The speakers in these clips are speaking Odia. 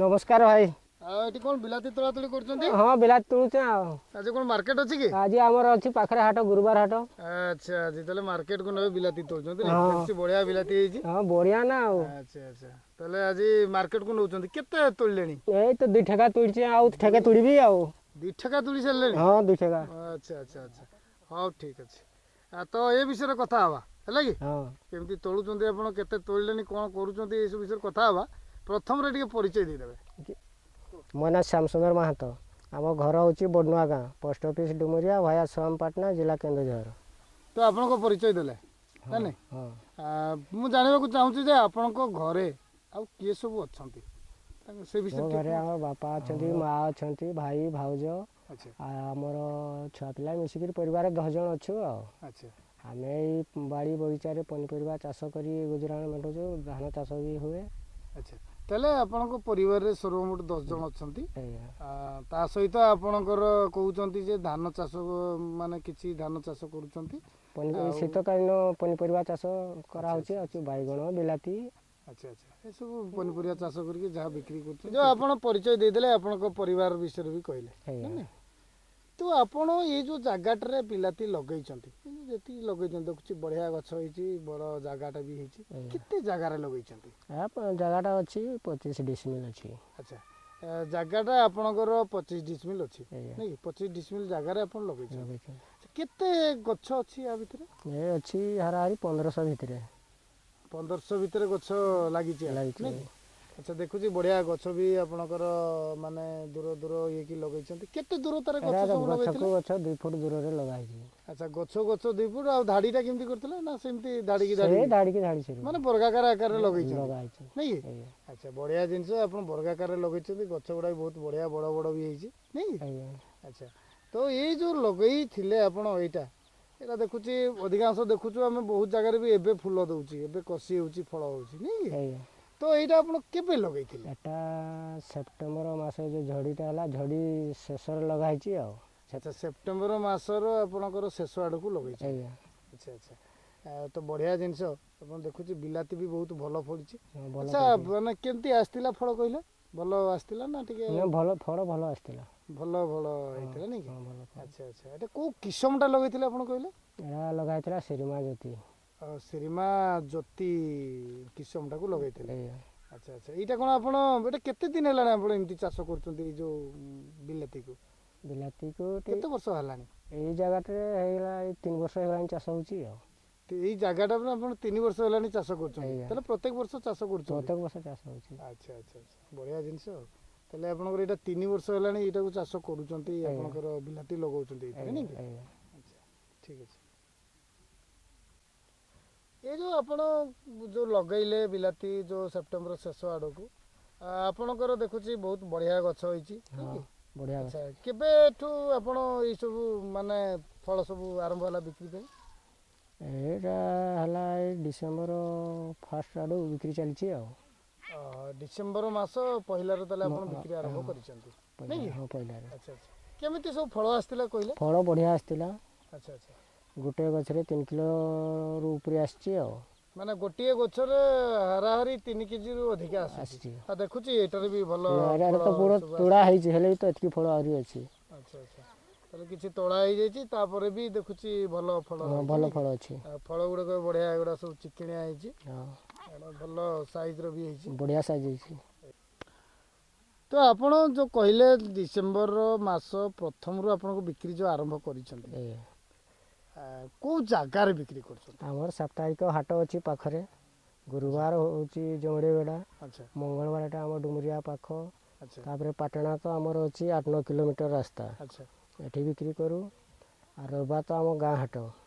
ନମସ୍କାର ଭାଇ। ଆଉ ଏଠି କ'ଣ ବିଲାତି ତୋଳାତୋଳି କରୁଛନ୍ତି? ହଁ, ବିଲାତି ତୋଳୁଛେ। ଆଉ ଆଜି କ'ଣ ମାର୍କେଟ ଅଛି କି? ଆଜି ଆମର ଅଛି ପାଖରେ ହାଟ, ଗୁରୁବାର ହାଟ। ଆଚ୍ଛା, ଆଜି ତାହେଲେ ମାର୍କେଟକୁ ନେବେ ବିଲାତି ତୋଳୁଛନ୍ତି। ଦେଖୁଛି ବଢିଆ ବିଲାତି ହେଇଛି। ହଁ, ବଢିଆ ନା ଆଉ। ଆଚ୍ଛା ଆଚ୍ଛା, ତାହେଲେ ଆଜି ମାର୍କେଟକୁ ନେଉଛନ୍ତି। କେତେ ତୋଳିଲେଣି? ଏଇ ତ 2 ଠେକା ତୋଳିଛି, ଆଉ ଠେକା ତୋଳିବି। ଆଉ 2 ଠେକା ତୋଳି ସାରିଲେଣି? ହଁ, 2 ଠେକା। ଆଚ୍ଛା ଆଚ୍ଛା ଆଚ୍ଛା, ହଉ ଠିକ ଅଛି। ତ ଏ ବିଷୟରେ କଥା ହବା, ହେଲା କି? କେମିତି ତୋଳୁଛନ୍ତି ଆପଣ, କେତେ ତୋଳିଲେଣି, କ'ଣ କରୁଛନ୍ତି, ଏସବୁ ବିଷୟରେ କଥା ହବା। ପ୍ରଥମରେ ଟିକେ ପରିଚୟ ଦେଇଦେବେ। ମୋ ନାଁ ଶ୍ୟାମସୁନ୍ଦର ମହାନ୍ତ। ଆମ ଘର ହେଉଛି ବଡ଼ନୂଆ ଗାଁ, ପୋଷ୍ଟ ଅଫିସ ଡୁମୁରିଆ, ଭାୟା ସୋମପାଟଣା, ଜିଲ୍ଲା କେନ୍ଦୁଝର। ତ ଆପଣଙ୍କ ପରିଚୟ ଦେଲେ ନା ନାଇଁ? ମୁଁ ଜାଣିବାକୁ ଚାହୁଁଛି ଯେ ଆପଣଙ୍କ ଘରେ ଆଉ କିଏ ସବୁ ଅଛନ୍ତି ସେ ବିଷୟରେ। ଘରେ ଆମ ବାପା ଅଛନ୍ତି, ମା ଅଛନ୍ତି, ଭାଇ, ଭାଉଜ, ଆଉ ଆମର ଛୁଆ ପିଲା ମିଶିକିରି ପରିବାର 10 ଜଣ ଅଛୁ। ଆଉ ଆମେ ଏଇ ବାଡ଼ି ବଗିଚାରେ ପନିପରିବା ଚାଷ କରି ଗୁଜୁରାଣ ମେଣ୍ଟାଉଛୁ। ଧାନ ଚାଷ ବି ହୁଏ। ଆଚ୍ଛା, ତାହେଲେ ଆପଣଙ୍କ ପରିବାରରେ ସର୍ବମୋଟ 10 ଜଣ ଅଛନ୍ତି। ତା ସହିତ ଆପଣଙ୍କର କହୁଛନ୍ତି ଯେ ଧାନ ଚାଷ, ମାନେ କିଛି ଧାନ ଚାଷ କରୁଛନ୍ତି। ଶୀତକାଳୀନ ପନିପରିବା ଚାଷ କରାହେଉଛି, ଅଛି ବାଇଗଣ, ବିଲାତି। ଆଚ୍ଛା ଆଚ୍ଛା, ଏସବୁ ପନିପରିବା ଚାଷ କରିକି ଯାହା ବିକ୍ରି କରୁଛନ୍ତି। ଯେଉଁ ଆପଣ ପରିଚୟ ଦେଇଦେଲେ, ଆପଣଙ୍କ ପରିବାର ବିଷୟରେ ବି କହିଲେ। ତ ଆପଣ ଏଇ ଯେଉଁ ଜାଗାଟାରେ ବିଲାତି ଲଗେଇଛନ୍ତି, ଯେତିକି ଲଗେଇଛନ୍ତି ଦେଖୁଛି ବଢ଼ିଆ ଗଛ ହେଇଛି, ବଡ଼ ଜାଗାଟା ବି ହେଇଛି। କେତେ ଜାଗାରେ ଲଗେଇଛନ୍ତି? ଜାଗାଟା ଅଛି 25 ଡିସମିଲ ଅଛି। ଆଚ୍ଛା, ଜାଗାଟା ଆପଣଙ୍କର 25 ଡିସମିଲ ଅଛି ନାଇଁ? 25 ଡିସମିଲ ଜାଗାରେ ଆପଣ ଲଗେଇଛନ୍ତି। କେତେ ଗଛ ଅଛି ୟା ଭିତରେ? ଏ ଅଛି ହାରାହାରି 1500 ଭିତରେ। 1500 ଭିତରେ ଗଛ ଲାଗିଛି। ଆଚ୍ଛା, ଦେଖୁଛି ବଢିଆ ଗଛ ବି ଆପଣଙ୍କର, ମାନେ ଦୂର ଦୂର ଇଏକି ଲଗେଇଛନ୍ତି। କେତେ ଦୂରତାରେ ଗଛ ସବୁ ଲଗେଇଥିଲେ? ଗଛ 2 ଫୁଟ ଦୂରରେ ଲଗା ହେଇଛି। ଆଚ୍ଛା, ଗଛ ଗଛ 2 ଫୁଟ। ଆଉ ଧାଡ଼ିଟା କେମିତି କରିଥିଲେ ନା ସେମିତି ଧାଡ଼ିକି ଧାଡ଼ି? ଧାଡ଼ିକି ଧାଡ଼ି, ମାନେ ବର୍ଗାକାର ଆକାରରେ ଲଗେଇଛନ୍ତି ନାଇଁ କି? ଆଚ୍ଛା, ବଢିଆ ଜିନିଷ, ଆପଣ ବର୍ଗାକାରରେ ଲଗେଇଛନ୍ତି। ଗଛ ଗୁଡ଼ା ବି ବହୁତ ବଢିଆ ବଡ଼ ବଡ଼ ବି ହେଇଛି ନାଇଁ କି? ଆଚ୍ଛା, ତ ଏଇ ଯୋଉ ଲଗେଇଥିଲେ ଆପଣ ଏଇଟା ଦେଖୁଛି ଅଧିକାଂଶ ଦେଖୁଛୁ ଆମେ ବହୁତ ଜାଗାରେ ବି ଏବେ ଫୁଲ ଦଉଛି, ଏବେ କଷି ହେଉଛି, ଫଳ ହେଉଛି ନାଇଁ କି? ତ ଏଇଟା ଆପଣ କେବେ ଲଗେଇଥିଲେ? ଏଟା ସେପ୍ଟେମ୍ବର ମାସ, ଯୋଉ ଝଡ଼ିଟା ହେଲା, ଝଡ଼ି ଶେଷରେ ଲଗା ହେଇଛି ଆଉ। ଆଚ୍ଛା, ସେପ୍ଟେମ୍ବର ମାସର ଆପଣଙ୍କର ଶେଷ ଆଡ଼କୁ ଲଗେଇଛନ୍ତି। ଆଚ୍ଛା ଆଚ୍ଛା, ତ ବଢ଼ିଆ ଜିନିଷ। ଆପଣ ଦେଖୁଛି ବିଲାତି ବି ବହୁତ ଭଲ ଫଳିଛି। ଆଚ୍ଛା, ମାନେ କେମିତି ଆସିଥିଲା ଫଳ କହିଲେ? ଭଲ ଆସିଥିଲା ନା ଟିକେ? ଭଲ ଫଳ, ଭଲ ଆସିଥିଲା। ଭଲ ଫଳ ହେଇଥିଲା ନାଇଁ କି? ଆଚ୍ଛା ଆଚ୍ଛା, ଏଟା କୋଉ କିସମଟା ଲଗେଇଥିଲେ ଆପଣ କହିଲେ? ଏଟା ଲଗା ହେଇଥିଲା ଶ୍ରୀମା ଜ୍ୟୋତି। ଶ୍ରୀମା ଜ୍ୟୋତି କିସମଟାକୁ ଲଗେଇଥିଲେ। ଆଚ୍ଛା ଆଚ୍ଛା, ଏଇଟା କ'ଣ ଆପଣ ଏଇଟା କେତେ ଦିନ ହେଲାଣି ଆପଣ ଏମିତି ଚାଷ କରୁଛନ୍ତି ଏଇ ଯୋଉ ବିଲାତିକୁ? ବିଲାତିକୁ କେତେ ବର୍ଷ ହେଲାଣି? ଏଇ ଜାଗାଟାରେ ହେଇଗଲା ଏଇ 3 ବର୍ଷ ହେଲାଣି ଚାଷ ହେଉଛି। ଆଉ ଏଇ ଜାଗାଟା ଆପଣ 3 ବର୍ଷ ହେଲାଣି ଚାଷ କରୁଛନ୍ତି? ତାହେଲେ ପ୍ରତ୍ୟେକ ବର୍ଷ ଚାଷ କରୁଛନ୍ତି? ପ୍ରତ୍ୟେକ ବର୍ଷ ଚାଷ ହେଉଛି। ଆଚ୍ଛା ଆଚ୍ଛା ଆଚ୍ଛା, ବଢ଼ିଆ ଜିନିଷ। ତାହେଲେ ଆପଣଙ୍କର ଏଇଟା 3 ବର୍ଷ ହେଲାଣି ଏଇଟାକୁ ଚାଷ କରୁଛନ୍ତି, ଆପଣଙ୍କର ବିଲାତି ଲଗାଉଛନ୍ତି ଏଇଥିରେ ନାଇଁ କି? ଆଚ୍ଛା, ଠିକ ଅଛି। ଏ ଯେଉଁ ଆପଣ ଯେଉଁ ଲଗେଇଲେ ବିଲାତି ଯେଉଁ ସେପ୍ଟେମ୍ବର ଶେଷ ଆଡ଼କୁ, ଆପଣଙ୍କର ଦେଖୁଛି ବହୁତ ବଢ଼ିଆ ଗଛ ହେଇଛି। ବଢ଼ିଆ। ଆଚ୍ଛା, କେବେଠୁ ଆପଣ ଏଇସବୁ ମାନେ ଫଳ ସବୁ ଆରମ୍ଭ ହେଲା ବିକ୍ରି ପାଇଁ? ଏଇଟା ହେଲା ଏଇ ଡିସେମ୍ବର ଫାର୍ଷ୍ଟ ଆଡ଼ୁ ବିକ୍ରି ଚାଲିଛି ଆଉ। ଡିସେମ୍ବର ମାସ ପହିଲାରୁ ତାହେଲେ ଆପଣ ବିକ୍ରି ଆରମ୍ଭ କରିଛନ୍ତି ନାଇଁ କି? ହଁ, ପହିଲାରୁ। ଆଚ୍ଛା ଆଚ୍ଛା, କେମିତି ସବୁ ଫଳ ଆସିଥିଲା କହିଲେ? ଫଳ ବଢ଼ିଆ ଆସିଥିଲା। ଆଚ୍ଛା ଆଚ୍ଛା, ଗୋଟିଏ ଗଛରେ 3 କିଲୋରୁ ଉପରେ ଆସିଛି ଆଉ। ମାନେ ଗୋଟିଏ ଗଛରେ ହାରାହାରି 3 କେଜିରୁ ଅଧିକା ଆସିଛି। ଆଉ ଦେଖୁଛି ଏଇଟାରେ ବି ଭଲ। ଏଇଟାରେ ତ ପୁରା ତୁଳା ହେଇଛି, ହେଲେ ବି ତ ଏତିକି ଫଳ ଆହୁରି ଅଛି। ଆଚ୍ଛା ଆଚ୍ଛା, ତାହେଲେ କିଛି ତୋଳା ହେଇଯାଇଛି, ତାପରେ ବି ଦେଖୁଛି ଭଲ ଫଳ। ଭଲ ଫଳ ଅଛି। ଫଳ ଗୁଡ଼ାକ ବଢ଼ିଆ, ଏଗୁଡ଼ା ସବୁ ଚିକିଣିଆ ହେଇଛି, ଭଲ ସାଇଜ୍ର ବି ହେଇଛି। ବଢ଼ିଆ ସାଇଜ୍ ହେଇଛି। ତ ଆପଣ ଯେଉଁ କହିଲେ ଡିସେମ୍ବର ମାସ ପ୍ରଥମରୁ ଆପଣଙ୍କୁ ବିକ୍ରି ଯେଉଁ ଆରମ୍ଭ କରିଛନ୍ତି, କେଉଁ ଜାଗାରେ ବିକ୍ରି କରୁଛନ୍ତି? ଆମର ସାପ୍ତାହିକ ହାଟ ଅଛି ପାଖରେ। ଗୁରୁବାର ହେଉଛି ଜମଡ଼ିବେଡ଼ା, ମଙ୍ଗଳବାରଟା ଆମ ଡୁମୁରିଆ ପାଖ, ତାପରେ ପାଟଣା ତ ଆମର ଅଛି 8-9 କିଲୋମିଟର ରାସ୍ତା, ଏଠି ବିକ୍ରି କରୁ। ଆଉ ରବିବାର ତ ଆମ ଗାଁ ହାଟ,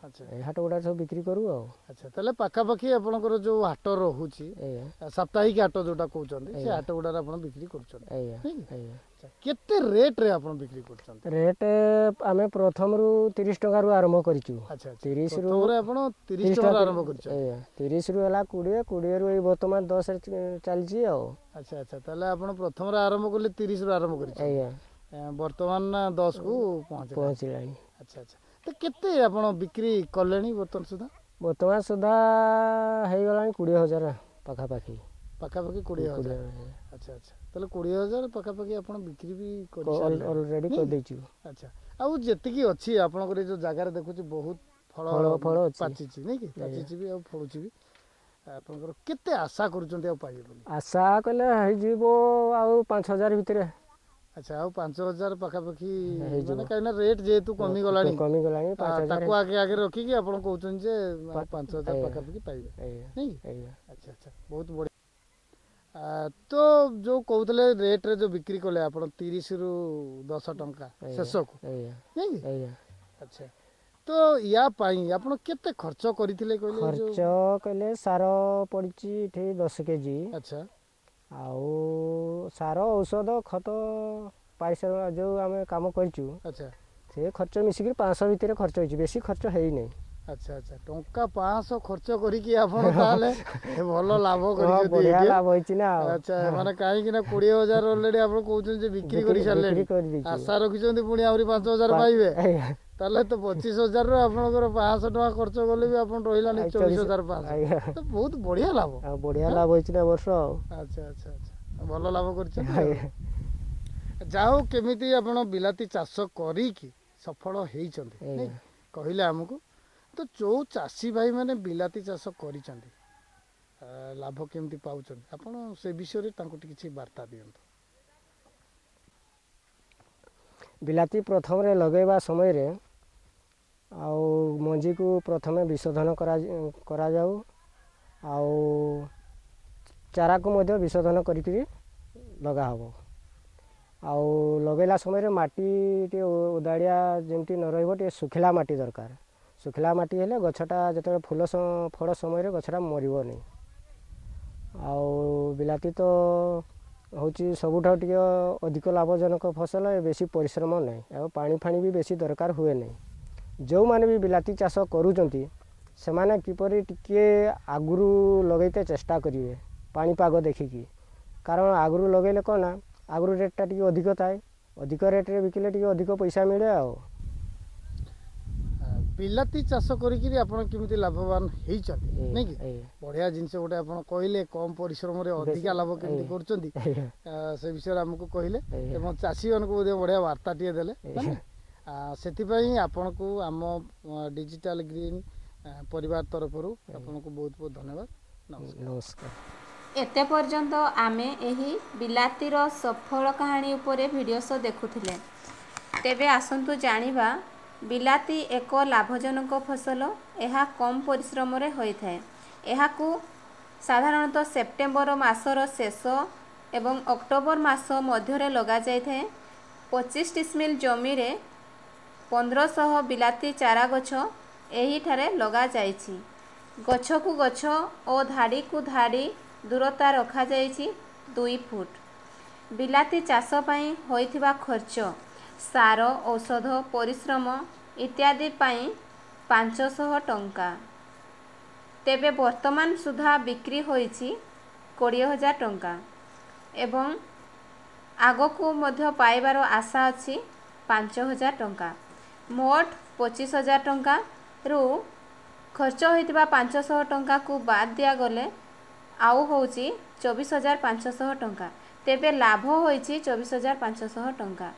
ଏ ହାଟ ଗୁଡ଼ା ସବୁ ବିକ୍ରି କରୁ ଆଉ। ଆଚ୍ଛା, ତାହେଲେ ପାଖାପାଖି ଆପଣଙ୍କର ଯୋଉ ହାଟ ରହୁଛି, ସାପ୍ତାହିକ ହାଟ ଯୋଉଟା କହୁଛନ୍ତି, ସେ ହାଟ ଗୁଡ଼ାରେ ଆପଣ ବିକ୍ରି କରୁଛନ୍ତି। ଆଜ୍ଞା ଆଜ୍ଞା। କେତେ ରେଟ୍ରେ ଆପଣ ବିକ୍ରି କରୁଛନ୍ତି? ରେଟ୍ ଆମେ ପ୍ରଥମରୁ 30 ଟଙ୍କାରୁ ଆରମ୍ଭ କରିଛୁ। 30ରୁ ଆପଣ 30 ଟଙ୍କାରୁ ଆରମ୍ଭ କରିଛନ୍ତି? ଆଜ୍ଞା, 30ରୁ ହେଲା 20, 20ରୁ ଏଇ ବର୍ତ୍ତମାନ 10ରେ ଚାଲିଛି ଆଉ। ଆଚ୍ଛା ଆଚ୍ଛା, ତାହେଲେ ଆପଣ ପ୍ରଥମରେ ଆରମ୍ଭ କଲେ 30ରୁ ଆରମ୍ଭ କରିଛନ୍ତି। ଆଜ୍ଞା। ବର୍ତ୍ତମାନ 10କୁ ପହଞ୍ଚିଲାଣି। ଆଚ୍ଛା ଆଚ୍ଛା, ତ କେତେ ଆପଣ ବିକ୍ରି କଲେଣି ବର୍ତ୍ତମାନ ସୁଦ୍ଧା? ବର୍ତ୍ତମାନ ସୁଦ୍ଧା ହେଇଗଲାଣି 20,000 ପାଖାପାଖି। ପାଖାପାଖି 20,000। ଆଚ୍ଛା ଆଚ୍ଛା, ତାହେଲେ 20,000 ପାଖାପାଖି ଆପଣ ବିକ୍ରି ବି ଅଲରେଡ଼ି କରିଦେଇଛୁ। ଆଚ୍ଛା, ଆଉ ଯେତିକି ଅଛି ଆପଣଙ୍କର ଏଇ ଯେଉଁ ଜାଗାରେ ଦେଖୁଛି ବହୁତ ଫଳ ଫଳ ପାଚିଛି ନାଇଁ କି? ପାଚିଛି ବି ଆଉ ଫଳୁଛି ବି। ଆପଣଙ୍କର କେତେ ଆଶା କରୁଛନ୍ତି ଆଉ ପାଇବେ ବୋଲି? ଆଶା କଲେ ହେଇଯିବ ଆଉ 5,000 ଭିତରେ। ଆଚ୍ଛା, ଆଉ 5,000 ପାଖାପାଖି, ମାନେ କାହିଁକିନା ରେଟ୍ ଯେହେତୁ କମିଗଲାଣି, କମିଗଲାଣି, ତାକୁ ଆଗେ ଆଗେ ରଖିକି ଆପଣ କହୁଛନ୍ତି ଯେ 5,000 ପାଖାପାଖି ପାଇବେ ନାଇଁ? ଆଚ୍ଛା ଆଚ୍ଛା, ବହୁତ ବଢ଼ିଆ। ତ ଯେଉଁ କହୁଥିଲେ ରେଟ୍ରେ ଯେଉଁ ବିକ୍ରି କଲେ ଆପଣ 30ରୁ 10 ଟଙ୍କା ଶେଷକୁ ନାଇଁ କି? ଆଚ୍ଛା, ତ ୟା ପାଇଁ ଆପଣ କେତେ ଖର୍ଚ୍ଚ କରିଥିଲେ କହିଲେ? ଖର୍ଚ୍ଚ କହିଲେ ସାର ପଡ଼ିଛି ଏଠି 10 କେଜି। ଆଚ୍ଛା। ଆଉ ସାର, ଔଷଧ, ଖତ, ପାରିଶ୍ରମିକ ଯେଉଁ ଆମେ କାମ କରିଛୁ। ଆଚ୍ଛା। ସେ ଖର୍ଚ୍ଚ ମିଶିକିରି 500 ଭିତରେ ଖର୍ଚ୍ଚ ହେଇଛି, ବେଶୀ ଖର୍ଚ୍ଚ ହେଇନାହିଁ। ଆଚ୍ଛା ଆଚ୍ଛା, ଟଙ୍କା 500 ଖର୍ଚ୍ଚ କରିକି ଆପଣ ତାହେଲେ ଭଲ ଲାଭ କରିଛନ୍ତି। ବଢ଼ିଆ ଲାଭ ହେଇଛି ନା। ଆଚ୍ଛା, ମାନେ କାହିଁକି ନା 20,000 ଅଲରେଡି ଆପଣ କହୁଛନ୍ତି ଯେ ବିକ୍ରି କରି ସାରିଲେଣି, ଆଶା ରଖିଛନ୍ତି ପୁଣି ଆହୁରି 5,000 ପାଇବେ, ତାହେଲେ ତ 25,000ରୁ ଆପଣଙ୍କର 500 ଟଙ୍କା ଖର୍ଚ୍ଚ କଲେ ବି ଆପଣ ରହିଲାନି 24,500। ତ ବହୁତ ବଢ଼ିଆ ଲାଭ। ବଢ଼ିଆ ଲାଭ ହେଇଛି ନା ବର୍ଷ। ଆଉ ଆଚ୍ଛା ଆଚ୍ଛା ଆଚ୍ଛା, ଭଲ ଲାଭ କରିଛନ୍ତି। ଯାହା ହଉ, କେମିତି ଆପଣ ବିଲାତି ଚାଷ କରିକି ସଫଳ ହେଇଛନ୍ତି କହିଲେ ଆମକୁ। ତ ଯେଉଁ ଚାଷୀ ଭାଇମାନେ ବିଲାତି ଚାଷ କରିଛନ୍ତି, ଲାଭ କେମିତି ପାଉଛନ୍ତି, ଆପଣ ସେ ବିଷୟରେ ତାଙ୍କୁ କିଛି ବାର୍ତ୍ତା ଦିଅନ୍ତୁ। ବିଲାତି ପ୍ରଥମରେ ଲଗାଇବା ସମୟରେ ଆଉ ମଞ୍ଜିକୁ ପ୍ରଥମେ ବିଶୋଧନ କରାଯାଉ, ଆଉ ଚାରାକୁ ମଧ୍ୟ ବିଶୋଧନ କରିକିରି ଲଗା ହେବ। ଆଉ ଲଗାଇଲା ସମୟରେ ମାଟି ଟିକେ ଓଦାଳିଆ ଯେମିତି ନ ରହିବ, ଟିକେ ଶୁଖିଲା ମାଟି ଦରକାର। ଶୁଖିଲା ମାଟି ହେଲେ ଗଛଟା ଯେତେବେଳେ ଫୁଲ ଫଳ ସମୟରେ ଗଛଟା ମରିବନି। ଆଉ ବିଲାତି ତ ହେଉଛି ସବୁଠାରୁ ଟିକେ ଅଧିକ ଲାଭଜନକ ଫସଲ, ବେଶୀ ପରିଶ୍ରମ ନାହିଁ, ଆଉ ପାଣି ଫାଣି ବି ବେଶୀ ଦରକାର ହୁଏ ନାହିଁ। ଯେଉଁମାନେ ବି ବିଲାତି ଚାଷ କରୁଛନ୍ତି ସେମାନେ କିପରି ଟିକିଏ ଆଗରୁ ଲଗାଇତେ ଚେଷ୍ଟା କରିବେ ପାଣିପାଗ ଦେଖିକି, କାରଣ ଆଗରୁ ଲଗାଇଲେ କ'ଣ ନା ଆଗରୁ ରେଟ୍ଟା ଟିକେ ଅଧିକ ଥାଏ, ଅଧିକ ରେଟ୍ରେ ବିକିଲେ ଟିକେ ଅଧିକ ପଇସା ମିଳେ। ଆଉ ବିଲାତି ଚାଷ କରିକିରି ଆପଣ କେମିତି ଲାଭବାନ ହେଇଛନ୍ତି ନାଇଁ କି? ବଢ଼ିଆ ଜିନିଷ ଗୋଟେ ଆପଣ କହିଲେ, କମ୍ ପରିଶ୍ରମରେ ଅଧିକା ଲାଭ କେମିତି କରୁଛନ୍ତି ସେ ବିଷୟରେ ଆମକୁ କହିଲେ ଏବଂ ଚାଷୀମାନଙ୍କୁ ମଧ୍ୟ ବଢ଼ିଆ ବାର୍ତ୍ତାଟିଏ ଦେଲେ। ସେଥିପାଇଁ ଆପଣଙ୍କୁ ଆମ ଡିଜିଟାଲ ଗ୍ରୀନ୍ ପରିବାର ତରଫରୁ ଆପଣଙ୍କୁ ବହୁତ ବହୁତ ଧନ୍ୟବାଦ। ନମସ୍କାର। ଏତେ ପର୍ଯ୍ୟନ୍ତ ଆମେ ଏହି ବିଲାତିର ସଫଳ କାହାଣୀ ଉପରେ ଭିଡ଼ିଓ ସୋ ଦେଖୁଥିଲେ। ତେବେ ଆସନ୍ତୁ ଜାଣିବା, ବିଲାତି ଏକ ଲାଭଜନକ ଫସଲ। ଏହା କମ୍ ପରିଶ୍ରମରେ ହୋଇଥାଏ। ଏହାକୁ ସାଧାରଣତଃ ସେପ୍ଟେମ୍ବର ମାସର ଶେଷ ଏବଂ ଅକ୍ଟୋବର ମାସ ମଧ୍ୟରେ ଲଗାଯାଇଥାଏ। 25 ଡିସମିଲ ଜମିରେ 1500 ବିଲାତି ଚାରା ଗଛ ଏହିଠାରେ ଲଗାଯାଇଛି। ଗଛକୁ ଗଛ ଓ ଧାଡ଼ିକୁ ଧାଡ଼ି ଦୂରତା ରଖାଯାଇଛି 2 ଫୁଟ। ବିଲାତି ଚାଷ ପାଇଁ ହୋଇଥିବା ଖର୍ଚ୍ଚ ସାର, ଔଷଧ, ପରିଶ୍ରମ ଇତ୍ୟାଦି ପାଇଁ 500 ଟଙ୍କା। ତେବେ ବର୍ତ୍ତମାନ ସୁଦ୍ଧା ବିକ୍ରି ହୋଇଛି 20,000 ଟଙ୍କା ଏବଂ ଆଗକୁ ମଧ୍ୟ ପାଇବାର ଆଶା ଅଛି 5,000 ଟଙ୍କା। ମୋଟ 25,000 ଟଙ୍କାରୁ ଖର୍ଚ୍ଚ ହୋଇଥିବା 500 ଟଙ୍କାକୁ ବାଦ୍ ଦିଆଗଲେ ଆଉ ହେଉଛି 24,500 ଟଙ୍କା। ତେବେ ଲାଭ ହୋଇଛି 24,500 ଟଙ୍କା।